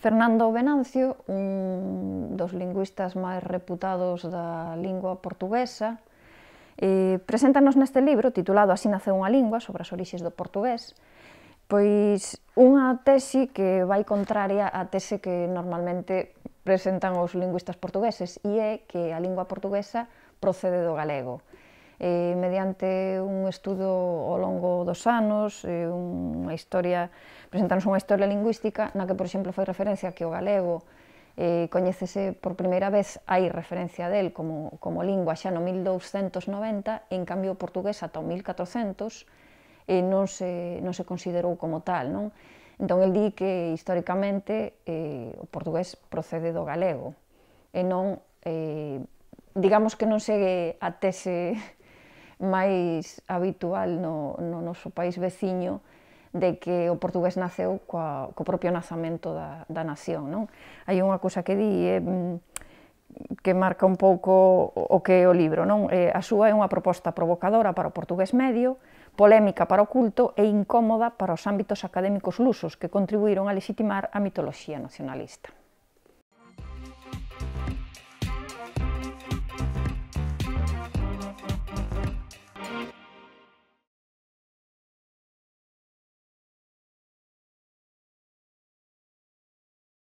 Fernando Venancio, un dos lingüistas máis reputados da lingua portuguesa, preséntanos neste libro, titulado Así naceu unha lingua, sobre as orixes do portugués, pois unha tese que vai contraria á tese que normalmente presentan os lingüistas portugueses, e é que a lingua portuguesa procede do galego. Mediante un estudo ao longo dos anos, presentarnos unha historia lingüística na que, por exemplo, fai referencia que o galego coñécese por primeira vez, hai referencia del como lingua xa no 1290, en cambio o portugués ata o 1400 non se considerou como tal, non? Entón, el di que históricamente o portugués procede do galego, e non, digamos que non segue a tese máis habitual no noso país veciño de que o portugués naceu co propio nacemento da nación, non? Hai unha cousa que di que marca un pouco o que é o libro, non? A súa é unha proposta provocadora para o portugués medio, polémica para o culto e incómoda para os ámbitos académicos lusos que contribuíron a lexitimar a mitoloxía nacionalista.